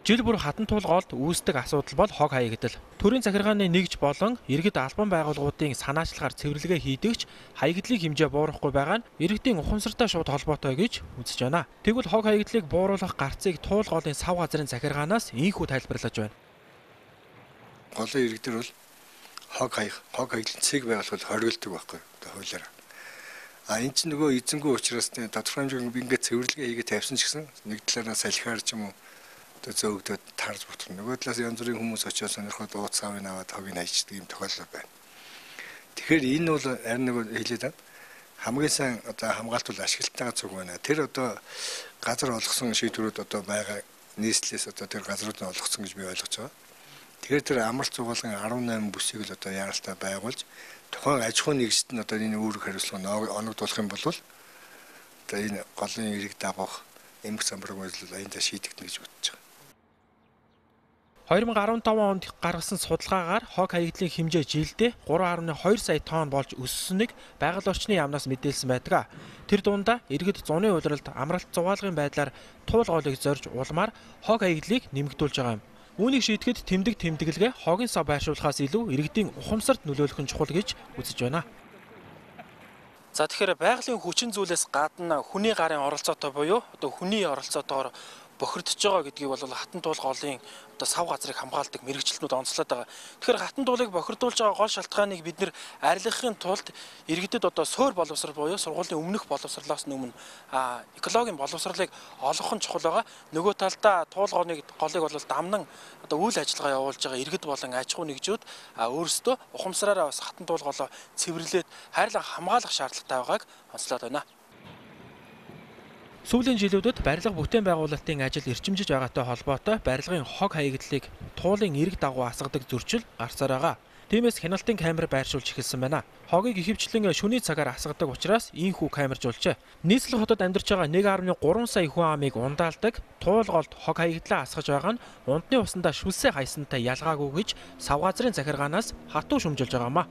Жил бүр хатан тулгоолд үүсдэг асуудал бол хог хаягдал. Төрийн захиргааны нэгж болон иргэд албан байгууллагуудын санаачлагаар цэвэрлэгээ хийдэгч хаягдлын хэмжээ буурахгүй байгаа нь иргэдийн ухамсартай шууд холбоотой гэж үзэж байна. Тэгвэл хог хаягдлыг бууруулах гарцыг туулгоолын сав газрын захиргаанаас ийхүү тайлбарлаж байна. Голын иргэдэр бол хог хаягдлын цэг байгуулахад хориглодог байхгүй хуулиараа. Энэ чинь нөгөө эзэнгүй учраас тодорхой хэмжээний ингээд цэвэрлэгээ хийгээ тавьсан ч гэсэн нэг талаараа салхиар ч юм уу зөөгдөд тарж бутгах. Нөгөө талаас янз бүрийн хүмүүс очиод сонирхоод ууц савыг аваад хогийг хайчдаг юм тохиолдол байна. Тэгэхээр энэ бол харин нэг хэлээд байна. Хамгийн сайн одоо хамгаалт ашиглалтайгаа зүг байна. Тэр одоо газар олгосон шийдвэрүүд одоо байгаа нийслэлээс одоо тэр газрууд нь олгосон гэж би ойлгож байгаа. Тэгэхээр тэр амралт зугаалгын 18 бүсийг л одоо яаралтай байгуулж тухайн аж ахуйн нэгжид нь одоо энэ үүрэг хариуцлага оногдуулах юм бол одоо энэ голын ирэг дагах эмх самбарыг үйлдэл аяндаа шийдэгдэнэ гэж бодож байгаа. 2015 онд гаргасан судалгаагаар хог хаягдлын хэмжээ жилдээ 3.2 сая тонн болж өссөнийг байгаль орчны яамнаас мэдээлсэн байдаг. Тэр дундаа иргэд зуны улиралд амралт зугаалгын байдлаар туулгоолыг зорж улмаар хог хаягдлыг нэмэгдүүлж байгаа юм. Үүнийг шийдэхэд тэмдэглэгээ хогийн сав байршуулахаас илүү иргэдийн ухамсарт нөлөөлөх нь чухал гэж үзэж байна. За тэгэхээр байгалийн хүчин зүйлээс гадна хүний гарын оролцоотой буюу одоо хүний оролцоотойгоор бохирдож байгаа гэдгийг бол хатан туулгоолын одоо сав газрыг хамгаалдаг мэрэгчлэнүүд онцлоод байгаа. Тэгэхээр хатан туулыг бохирдуулж байгаа гол шалтгааныг бид нэр арилгахын тулд иргэдэд одоо суур боловсрал буюу сургуулийн өмнөх боловсролоос өмнө экологийн боловсролыг олгох нь чухал байгаа. Нөгөө талдаа туулгооны голыг бол дамнан одоо үйл ажиллагаа явуулж байгаа иргэд болон аж ахуй нэгжүүд өөрсдөө ухамсараараа бас хатан туулголоо цэвэрлээд хайрлан хамгаалах шаардлагатай байгааг онцлоод байна. Сүүлийн жилүүдэд барилга бүтээн байгуулалтын ажил эрчимжиж байгаатай холбоотой барилгын хог хаягдлыг туулын эрэг дагуу асгадаг зөрчил гарсаар байгаа. Тиймээс хяналтын камер байршуулж эхэлсэн байна. Хогийг ихэвчлэн шөнийн цагаар асгадаг учраас ийхүү камержуулжээ. Нийслэл хотод амьдарч байгаа 1.3 сая хүн амыг ундаалдаг туулголд хог хаягдлаа асгаж байгаа нь ундны усандаа шүлсээ хайсантай ялгаагүй гэж сав газрын захиргаанаас хатуу шүмжилж байгаамаа.